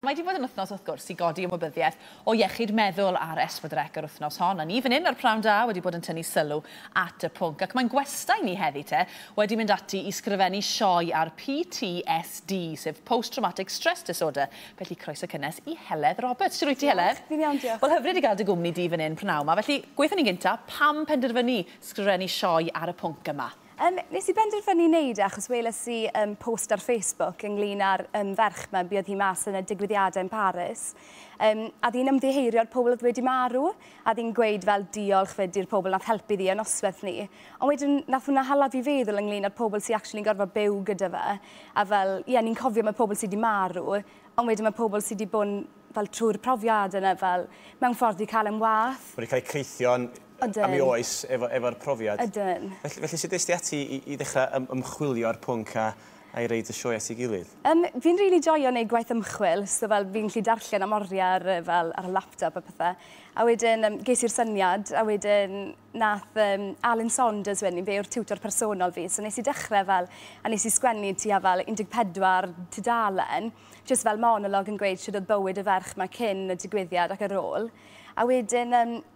Mae wedi bod yn wythnos wrth gwrs i godi ymwybyddiaeth o iechyd meddwl ar S4C yr wythnos hon. A ni fan hyn ar Prynhawn Da wedi bod yn tynnu sylw at y pwnc. Ac mae'n gwestai ni heddi te wedi mynd ati i sgrifennu sioe ar PTSD, sef Post Traumatic Stress Disorder. Felly croeso cynnes i Heledd Roberts. Shwt wyt ti, Heledd? Fi'n iawn, diolch. Wel, hyfryd i gael dy gwmni di fan hyn prynawn 'ma. Felly, gweithio ni'n gynta, pam penderfynu sgrifennu sioe ar y pwnc yma? Nes i benderfynu wneud e achos weles i post ar Facebook ynglyn â'r ferch 'ma, buodd hi mas yn y digwyddiadau yn Paris. A ddi'n ymddiheurio'r pobl oedd wedi marw, a ddi'n gweud fel diolch fyd i'r pobl nath helpu ddi y noswaith ni. Ond wedyn nath hwnna hala fi feddwl ynglyn â'r pobl sy'n actually'n gorfod byw gyda fe. A fel, ie, ni'n cofio mae pobl sydd wedi marw, ond wedyn mae pobl sydd wedi bod yn fel trwy'r profiad yna fel mewn ffordd i cael yn wath. Wedi cael eu creithio'n am ei oes efo'r profiad. Ydyn. Felly sut est ti ati i ddechrau ymchwilio ar pwnc a i roid y sioe at ei gilydd? Fi'n rili joio wneud gwaith ymchwil, so fel fi'n gallu darllen am oriau fel, ar y laptop a pethau. A wedyn ges i'r syniad, a wedyn nath Alan Saunders wedyn, fe yw'r tiwtor personol fi, so nes i dechrau fel, a nes i sgwennu tua fel 14 tudalen, just fel monolog yn gweud sut oedd bywyd y ferch yma cyn y digwyddiad ac ar ôl. A wedyn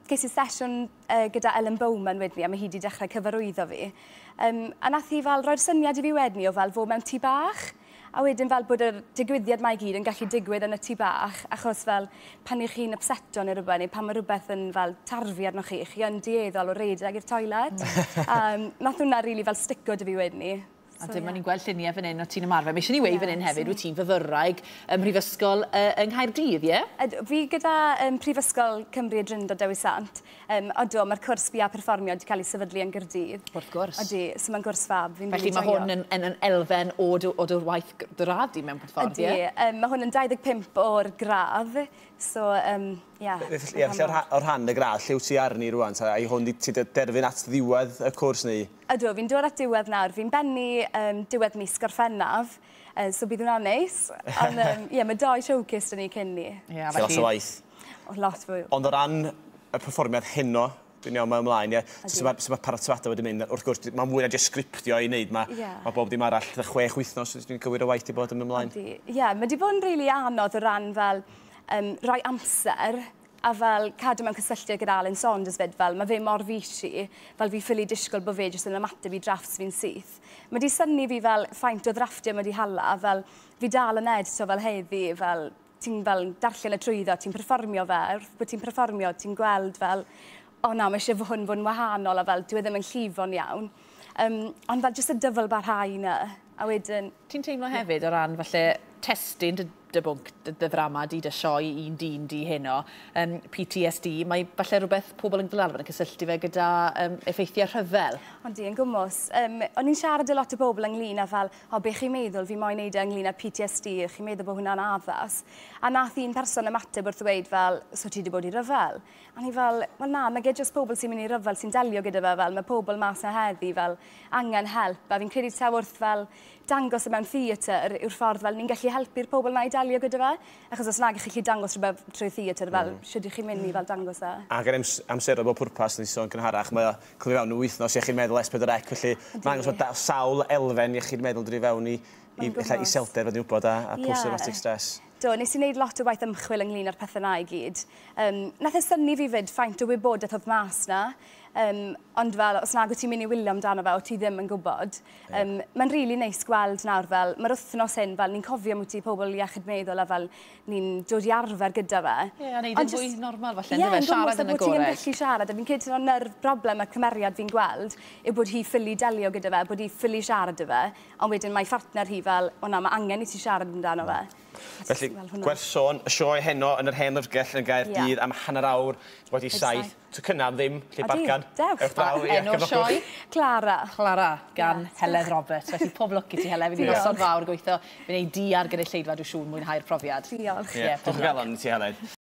ges i sesiwn gyda Ellen Bowman wedyn, a mae hi wedi dechrau cyfarwyddo fi. A nath hi fel roi'r syniad i fi wedyn o fel fod mewn tŷ bach. A wedyn fel bod yr digwyddiad mae i gyd yn gallu digwydd yn y tŷ bach, achos fel pan ych chi'n upseto neu rhywbeth, neu pan mae rhywbeth yn fel tarfu arnoch chi, chi yn dueddol o redeg i'r toilet. Nath hwnna rili fel stico 'da fi wedyn ni. A so, dyma ni'n gweld lluniau fan hyn o ti'n ymarfer. Mae eisiau ni weud fan hyn hefyd, wyt ti'n fyfyrwraig ym Mhrifysgol yng Nghaerdydd, ie? Yeah? Fi gyda Prifysgol Cymru y Drindod Dewi Sant. Odw, mae'r cwrs BA Perfformio wedi cael ei sefydlu yn Gaerdydd. Wrth gwrs. Odi, so mae'n gwrs fab. Fi'n Felly mae hwn yn elfen o dy waith dy radd di mewn ffordd, ie? Ydy, mae hwn yn 25 o'r gradd. So, yeah. Ie, felly o'r rhan y gradd, lle wyt ti arni rwan? Ta, ai hwn ti derfyn at ddiwedd y cwrs neu? Ydw, fi'n dod at diwedd nawr. Fi'n bennu diwedd mis Gorffennaf, so bydd hwnna'n neis. Ond, ie, mae doi showcase 'da ni cyn ni. Yeah, felly lot o waith. O, lot fwy. Ond o ran y perfformiad heno, dwi'n iawn, mae ymlaen, ie. Sut mae paratoadau wedi mynd? Wrth gwrs, mae mwy na jyst sgriptio i wneud. Mae yeah. Bob dim arall, 6 wythnos, dwi'n cywir o waith i bod yn ymlaen. Ie, yeah, mae wedi bod yn rili really anodd o ran fel rhoi amser a fel cadw mewn cysylltiad gyda Alan Saunders fyd, fel mae fe mor busy, fel fi ffili disgwyl bod fe jyst yn ymateb i drafts fi'n syth. Mae di synnu fi fel faint o ddrafftiau mae di hala, fel fi dal yn edito fel heddi, fel ti'n fel darllen y trwyddo, ti'n perfformio fe, wrth bod ti'n perfformio, ti'n gweld fel, o na, mae eisiau hwn fod yn wahanol a fel, dyw e ddim yn llifo'n iawn. Ond fel jyst y dyfal barhau 'na. A wedyn Ti'n teimlo hefyd o ran falle testun dy bwnc, dy ddrama di, dy sioe un dyn di heno, PTSD, mae falle rhywbeth pobl yn fel arfer yn cysylltu fe gyda effeithiau rhyfel. Ond di, yn gwmws. O'n i'n siarad â lot o bobl ynglyn â fel, o, be chi'n meddwl, fi moyn neud e ynglyn â PTSD, chi'n meddwl bod hwnna'n addas? A nath un person ymateb wrth ddweud fel, so ti wedi bod i ryfel? A ni fel, wel na, mae jyst pobl sy'n mynd i ryfel sy'n delio gyda fe fel, mae pobl mas na heddi fel angen help. A fi'n credu taw wrth fel dangos e mewn theatr yw'r ffordd fel ni'n gallu helpu'r pobl na i delio gyda fe. Achos os nag ych chi dangos rhywbeth trwy theatr fel, mm. ych chi'n mynd i fel dangos e? Ac yn amser o bob pwrpas, nes i sôn gynharach, mae o clywed fewn wythnos iechyd meddwl S4C, felly mae'n dangos bod sawl elfen iechyd meddwl drwy fewn i ella iselder, fod ni'n wybod, a post-traumatic stress. Do, nes i wneud lot o waith ymchwil ynglyn â'r pethau na i gyd. Nath e synnu fi fyd faint o wybodaeth oedd mas na. Ond fel, os nag wyt ti'n mynd i wylio amdano fe, o ti ddim yn gwybod. Mae'n rili really neis gweld nawr fel, mae'r wythnos hyn, fel ni'n cofio am ti pobl iechyd meddwl a fel ni'n dod i arfer gyda fe. Ie, yeah, a neud yn fwy normal falle, yeah, siarad yn agored. Ie, ti'n gallu siarad, a fi'n credu na'r broblem y cymeriad fi'n gweld yw bod hi ffili delio gyda fe, bod hi ffili siarad gyda fe, ond wedyn mae phartner hi fel, o na, mae angen i ti siarad amdano fe. Felly, gwerth sôn, y sioe heno yn yr Hen Lyfrgell yn Gaerdydd am 7:30. Tocynnau am ddim, lle bargan. Dewch. Ewch draw i Enw'r sioe? Clara. Clara, gan Heledd Roberts. Felly pob lwc i ti, Heledd. Fydd hi'n noson fawr gweithio. Fi'n ei di ar gynulleidfa, dwi'n siŵr mwynhau'r profiad. Diolch. Ie, diolch o galon i ti, Heledd.